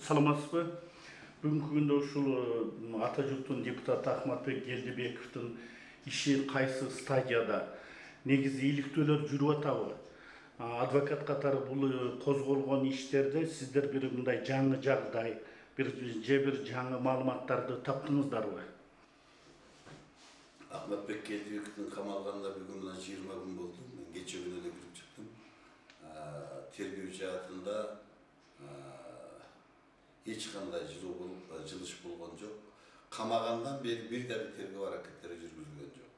Саламатсызбы? Бүгүнкү күндө ушул ата журттун депутаты Ахматбек Келдибековдун иши кайсы стадияда? Негизи иликтөөлөр жүрүп атабы? Адвокат катары бул козголгон иштерде сиздер бир мындай жаңы жагдай, бир жаңы маалыматтарды таптыңыздарбы? Ахматбек Келдибековдун камалганына бүгүн 20 күн болду. Мен кече күнү эле кирип чыктым. Тергөө жаатында эч кандай жылыш болгон жок. Камагандан бери бир да бир тергөө аракеттери жүргүзүлгөн жок.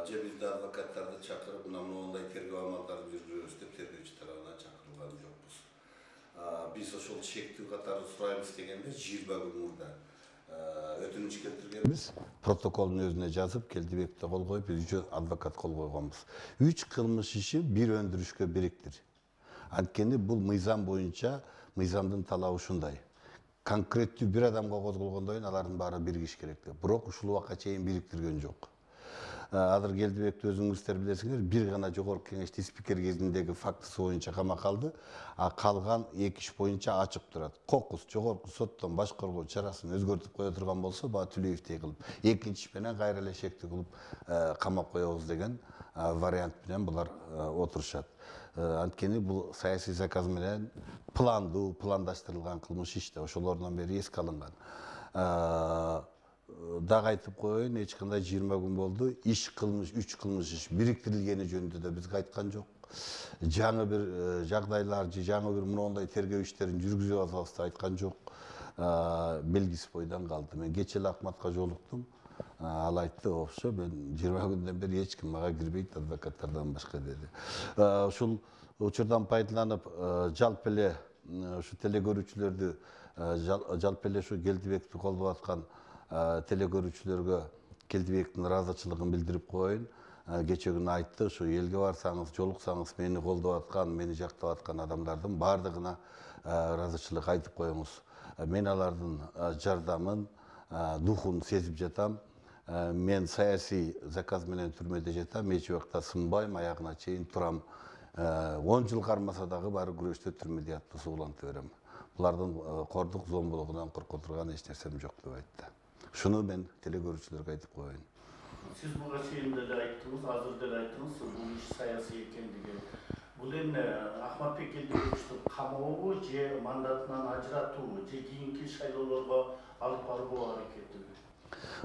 Же бизде адвокаттарды чакырып, мындай тергөө амалдарын жүргүзөбүз деп тергөөчү тарабынан чакырылган жокпуз. Биз ошол чектүү катары сурайбыз дегенде 20 күн мурда өтүнүч келтиргенбиз. Протоколдун өзүнө жазып, Келдибековду кол коюп, биз 3 адвокат кол койгонбуз. 3 кылмыш иши бир өндүрүшкө бириктир. Анткени бул мыйзам боюнча мыйзамдын талабы ушундай. Конкреттүү бир адамга козголгондон кийин алардын баары биригиш керек деп. Бирок ушул убакка чейин бириктирген жок. Азыр Келдибекти өзүңүздөр билесиңер, бир гана жогорку кеңештин спикер кезиндеги фактысы боюнча камакка алды, калган 2 иш боюнча ачык турат. Кокус жогорку соттон башкаруу чарасын өзгөртүп кое турган болсо, баа Түлеевдей кылып, экинчи иш менен кайра эле шектүү кылып камап коебуз деген вариант менен булар отурушат. Анткени бул саясий заказ менен пландаштырылган кылмыш иш да ошолордон бери эске алынган. Дагы айтып коеюн, эч кандай 20 күн болду. 3 кылмыш иш бириктирилгени жөнүндө да бизге айткан жок. Жаңы бир жагдайлар же жаңы бир моундай тергөө иштерин жүргүзүп атабыз деп айткан жок. Белгисиз бойдон калды. Мен кече эле Акматка жолуктум. Ал айтты, "Ошо мен 20 күндөн бери эч ким мага кирбейт адвокаттардан башка" деди. Ушул учурдан пайдаланып, жалпы эле ушу телекөрүүчүлөрдү, жалпы эле ушу Келдибековду колдоп аткан телекөрүүчүлөргө Келдибековдун ыраазычылыгын билдирип коеюн. Кече күнү айтты, ушу элге барсаңыз, жолуксаңыз, мени колдоп аткан, мени жактап аткан адамдардын баардыгына ыраазычылык айтып коюңуз. Мен алардын жардамын, духун сезип жатам. Мен саясий заказ менен түрмөдө жатам, эч убакта сынбайм, аягына чейин турам. 10 жыл кармаса дагы баары күрөштө түрмөдө ятты сууланта берем. Булардын кордук, зомбулугунан корко турган эч нерсем жок деп айтты. Шуну мен телекөрүүчүлөргө айтып коеюн. Сиз буга чейин деле айттыңыз, азыр деле айттыңыз, бул иш саясий экендиги. Бул эми Ахматбек Келдибековду камообу же мандатынан ажыратуубу же кийинки шайлоолорго алып баруу аракетиби?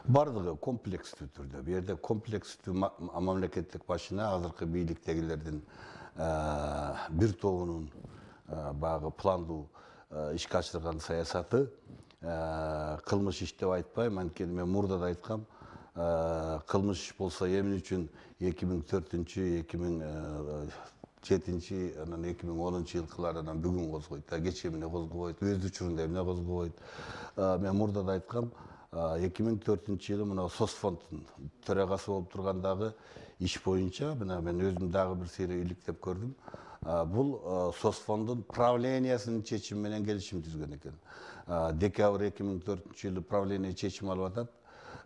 Бардыгы комплекстүү түрдө. Бу жерде комплекстүү мамлекеттик башчына азыркы бийликтегилердин бир тобунун баягы пландуу ишке ашырган саясаты кылмыш иш деп айтпайм, анткени мен мурда да айткам, кылмыш болсо эмне үчүн 2004, 2007, анан 2010 жылкыларынан бүгүн козгойт, кече эмне козгобойт, өз учурунда эмне козгобойт. Мен мурда да айткам, 2004 жылы мына Сосфонддун төрагасы болуп тургандагы иш боюнча, мына мен өзүм дагы бир сейре иликтеп көрдүм. Бул Сосфонддун правлениясынын чечими менен келишим түзгөн экен. Декабрь 2004 жылы правление чечим алып атат.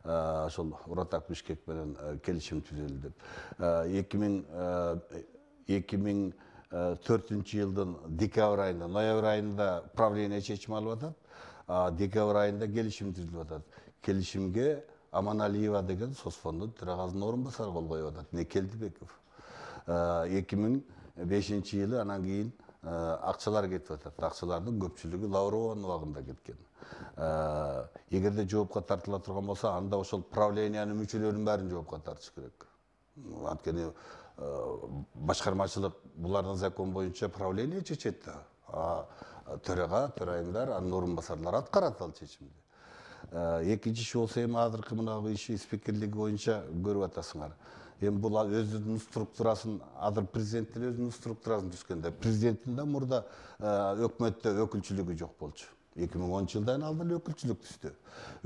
Ошол Уратак Бишкек менен келишим түзөлдү деп. 2004 жылдын декабрь айында, ноябрь айында правление чечим алып атат. Декабрь айында келишим түзүлүп атат. Келишимге Аманалиева деген Сосфонддун төрагасынын орун басары кол коюп атат. Не Келдибеков. 2005 жылы анан кийин акчалар кетип атат. Акчалардын көпчүлүгү Лаврованын убагында кеткен. Эгерде жоопко тартыла турган болсо, анда ошол правлениянын мүчөлөрүнүн баарын жоопко тартыш керек. Анткени башкармачылык булардын закон боюнча правление чечет да. Төрага, төрайымдар, анын орун басарлары аткарат ал чечимди. Экинчи иш болсо эми азыркы мына иши спикерлиги боюнча көрүп атасыңар. Эми бул өзүнүн структурасын, азыр президент деле өзүнүн структурасын түзгөндө. Президенттин да мурда өкмөттө өкүлчүлүгү жок болчу. 2010 жылдан алдын өкүлчүлүк түздү.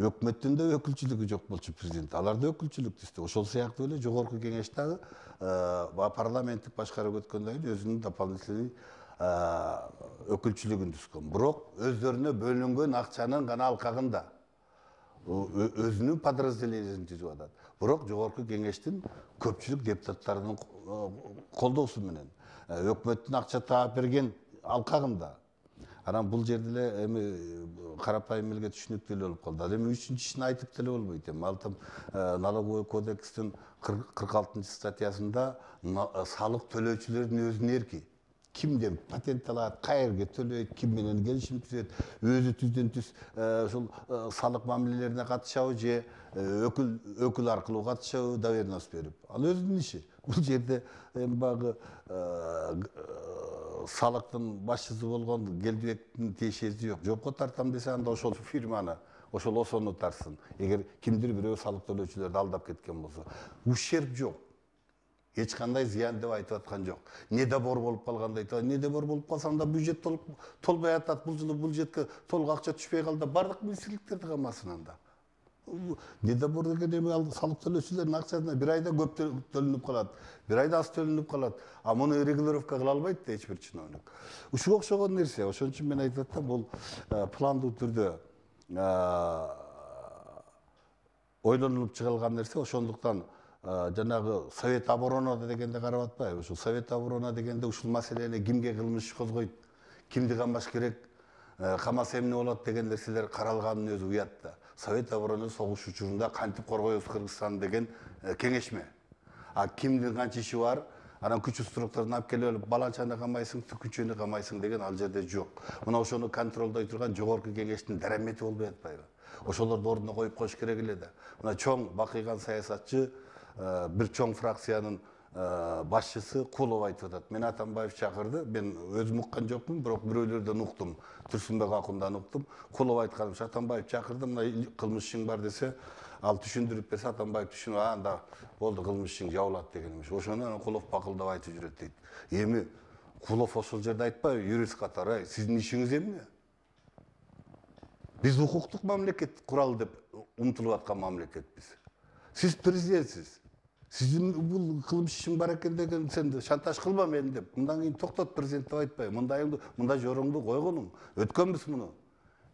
Өкмөттүн да өкүлчүлүгү жок болчу президент. Алар да өкүлчүлүк түздү. Ошол сыяктуу эле жогорку кеңеш дагы парламенттик башкарып өткөндөн кийин өзүнүн дополнительный өкүлчүлүгүн түзгөн. Бирок өздөрүнө бөлүнгөн акчанын гана алкагында өзүнүн подразделениясын түзүп атат. Бирок жогорку кеңештин көпчүлүк депутаттарынын колдоосу менен өкмөттүн акча таап берген алкагында Анан бул жерде эле эми карапайым элге түшүнүктүү эле болуп калды. Ал эми үчүнчүсүн айтып деле болбойт. Эми ал там налоговый кодекстин 46-статьясында салык төлөөчүлөрдүн өзүнүн эрки. Кимден патент алат, кайерге төлөйт, ким менен келишим түзөт, өзү түздөн түз ушул салык мамилелерине катышабы же өкүл аркылуу катышабы доверенность берип. Ал өзүнүн иши. Бул жерде эми багы салыктын башчысы болгон Келдибектин тиешеси жок. Жопко тартам десе анда ошол фирманы, ошол осону тарсын. Эгер кимдир бирөө салык төлөөчүлөрдү алдап кеткен болсо, ущерб жок. Эч кандай зыян деп айтып аткан жок. Недобор болуп калганда айтат, недобор болуп калса анда бюджет толбой атат. Бул жылы бюджетке толук акча түшпөй калды. Бардык министрликтерди камасын анда. Недобор деген эми ал салык төлөөчүлөрдүн акчасына бир айда көп төлөнүп калат, бир айда аз төлөнүп калат. А муну регулировка кыла албайт да эч бир чиновник. Ушуга окшогон нерсе. Ошон үчүн мен айтып атам, бул пландуу түрдө ойлонуп чыгарылган нерсе. Ошондуктан жанагы Совет оборона дегенде карап атпайбы? Ушул Совет оборона дегенде ушул маселени кимге кылмыш иш козгойт, кимди камаш керек, камаса эмне болот деген нерселер каралганын өзү уят да. Совет оборона согуш учурунда кантип коргойбуз Кыргызстанды деген кеңешме. А кимдин канча иши бар, анан күч структураны алып келип баланчаны камайсың, түкүнчөнү камайсың деген ал жерде жок. Мына ошону контролдой турган жогорку кеңештин дарамети болбой атпайбы? Ошолорду ордуна коюп коюш керек эле да. Мына чоң бакыйган саясатчы бир чоң фракциянын башчысы Кулов айтып атат. Мен Атамбаев чакырды, мен өзүм уккан жокмун, бирок бирөөлөрдөн уктум, Турсунбек Акундан уктум. Кулов айтканыш, Атамбаев чакырды, мына кылмыш ишиң бар десе, ал түшүндүрүп берсе, Атамбаев түшүнүп, анда болду, кылмыш ишиң жабылат деген эмес. Ошону Кулов бакылдап айтып жүрөт дейт. Эми Кулов ошол жерде айтпайбы, юрист катары, сиздин ишиңиз эмне? Биз укуктук мамлекет куралы деп умтулуп аткан мамлекетпиз. Сиз президентсиз. Сиздин бул кылмыш ишиң бар экен деген сен шантаж кылма мени деп. Мындан кийин токтот президент деп айтпайбы. Мындай жоруңду койгонуң. Өткөнбүз муну.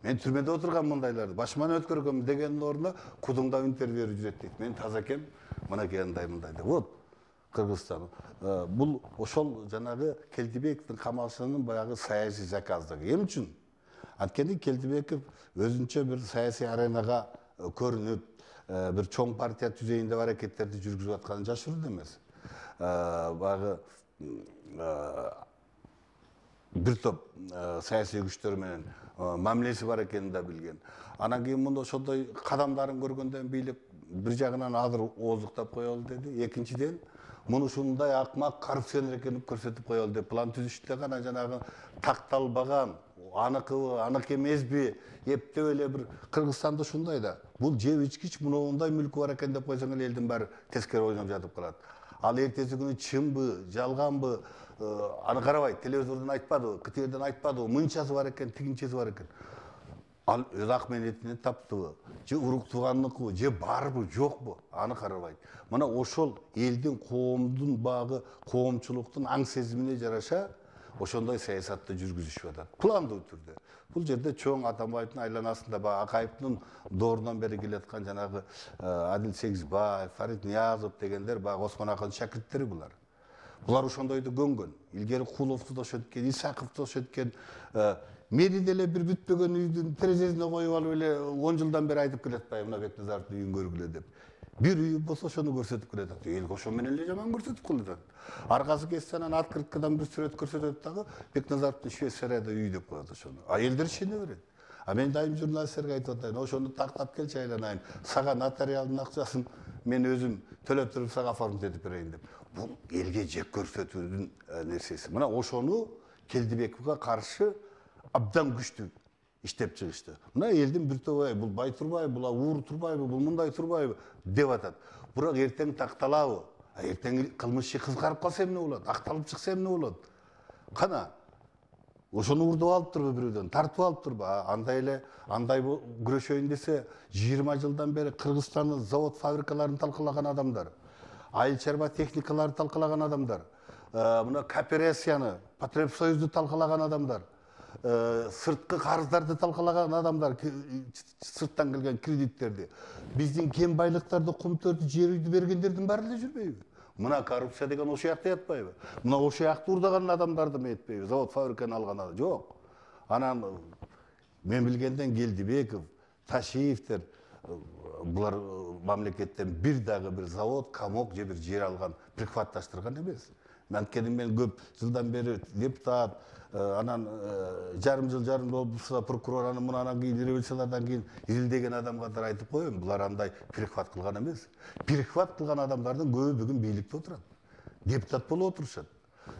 Мен түрмөдө отургам мындайларды. Башыман өткөргөм дегендин ордуна кудуңда интервью берип жүрөт дейт. Мен таза экем, мынакей мындай деп. Вот Кыргызстан. Бул ошол жанагы Келдибековдун камалышынын баягы саясий заказдыгы. Эмне үчүн? Анткени Келдибеков өзүнчө бир саясий аренага көрүнүп, бир чоң партия түзөйүн деп аракеттерди жүргүзүп атканы жашырууда эмес. Баягы бир топ саясий күчтөр менен мамилеси бар экенин да билген. Анан кийин муну ошондой кадамдарын көргөндөн бийлик бир жагынан азыр ооздуктап коелу деди. Экинчиден, муну ушундай акмак коррупционер экенин көрсөтүп коелу деп план түзүштү да, анан жанагы такталбаган, аныкыбы, анык эмеспи, эптеп эле бир Кыргызстанда ушундай да. Бул жеп ичкич, мындай мүлкү бар экен деп койсоң эле элдин баары тескери ойноп жатып калат. Ал эртеси күнү чынбы, жалганбы, аны карабайт, телевизордон айтпадыбы, КТРден айтпадыбы, мынчасы бар экен, тигинчеси бар экен. Ал өз ак менетинен таптыбы, же урук тууганныкыбы, же барбы, жокпу, аны карабайт. Мына ошол элдин, коомдун багы, коомчулуктун аң сезимине жараша ошондой саясатты жүргүзүшүп атат. Пландуу түрдө. Бул жерде чоң Атамбаевдин айланасында баягы Акаевдин доорунан бери келаткан жанагы Адил Сегизбаев, Фарид Ниязов дегендер баягы Осмон Акындын шакирттери булар. Булар ошондойду көнгөн. Илгери Куловду да ошенткен, Исаковду ошенткен. Мени деле бир бүтпөгөн үйдүн терезесине коюп алып эле 10 жылдан бери айтып келатпайбы, мына Бекназаровдун үйүн көргүлө деп. Бир үйү болсо ошону көрсөтүп келатат. Элге ошо менен эле жаман көрсөтүп келатат. Аркасы кетсе анан открыткадан бир сүрөт көрсөтөт дагы Бекназаровдун Швейцарияда үй деп коет ошону. А элдер ишене берет. А мен дайым журналисттерге айтып атайын, ошону тактап келчи айланайын. Сага нотариалдын акчасын мен өзүм төлөп туруп сага оформить этип берейин деп. Бул элге жек көрсөтүүнүн нерсеси. Мына ошону Келдибековго каршы абдан күчтүү иштеп чыгышты. Мына элдин бир тобу бул бай турбайбы, бул уур турбайбы, бул мындай турбайбы деп атат. Бирок эртең такталабы? Эртең кылмыш иши кызгарып калса эмне болот? Акталып чыкса эмне болот? Кана ошону урдуп алыптырбы бирөөдөн, тартып алыптырбы? Андай күрөшөйүн десе 20 жылдан бери Кыргызстандын завод фабрикаларын талкалаган адамдар, айыл чарба техникаларын талкалаган адамдар, мына кооперацияны, Потребсоюзду талкалаган адамдар, сырткы карыздарды талкалаган адамдар, сырттан келген кредиттерди, биздин кен байлыктарды, кумтөрдү, жер үйдү бергендердин баары эле жүрбөйбү? Мына коррупция деген ошол жакта ятпайбы? Мына ошол жакта урдаган адамдарды ме этпейби? Завод фабриканы алган адам жок. Анан мен билгенден Келдибеков, Ташиевтер булар мамлекеттен бир дагы бир завод, комок же бир жер алган, прихватташтырган эмес. Анткени мен көп жылдан бери депутат, анан жарым жыл болупса прокурор, анан кийин революциялардан кийин изилдеген адам катары айтып коеюн, булар андай перехват кылган эмес. Перехват кылган адамдардын көбү бүгүн бийликте отурат. Депутат болуп отурушат.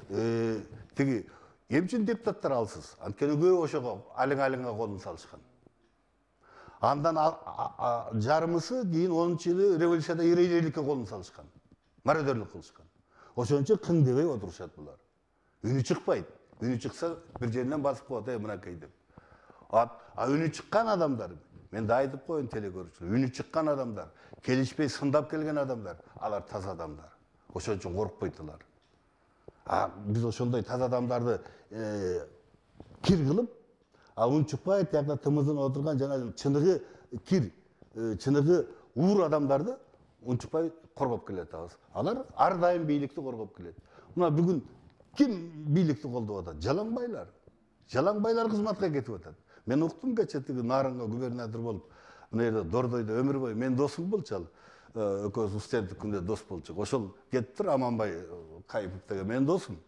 Тиги эмче депутаттар алсыз. Анткени көбү ошого алың-алыңга колун салышкан. Андан жарымысы кийин 10-жылы революцияда иреликке колун салышкан. Мародерлик кылышкан. Ошончо кың дебей отурушат булар. Үнү чыкпайт. Үнү чыкса бир жеринен басып коет, мынакей деп. Үнү чыккан адамдар, мен да айтып коеюн телекөрүүчүлөр, үнү чыккан адамдар, келишпей сындап келген адамдар, алар таза адамдар. Ошон үчүн коркпойт алар. Биз ошондой таза адамдарды кир кылып, унчукпай тиякта тымызын отурган жана чыныгы кир, чыныгы уур адамдарды унчукпай коргоп келатабыз. Алар ар дайым бийликти коргоп келет. Мына бүгүн ким бийликти колдоп атат? Жалаңбайлар. Жалаңбайлар кызматка кетип атат. Мен уктум кече тиги Нарынга губернатор болуп, мына жерде Дордойдо өмүр бою мен досум болчу ал. Экөөбүз студенттик күндө дос болчук. Ошол кетиптир Аманбай Кайыпов деген менин досум.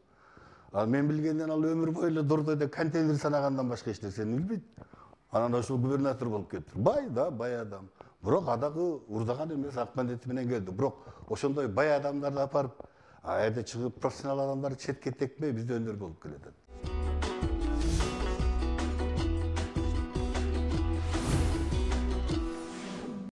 Мен билгенден ал өмүр бою эле Дордойдо контейнер санагандан башка эч нерсени билбейт. Анан ошол губернатор болуп кетти. Бай да, бай адам. Бирок адагы урдаган эмес, ак мандети менен келди. Бирок ошондой бай адамдарды апарып, жерде чыгып профессионал адамдарды четке текпей бизде өнөр болуп келатат.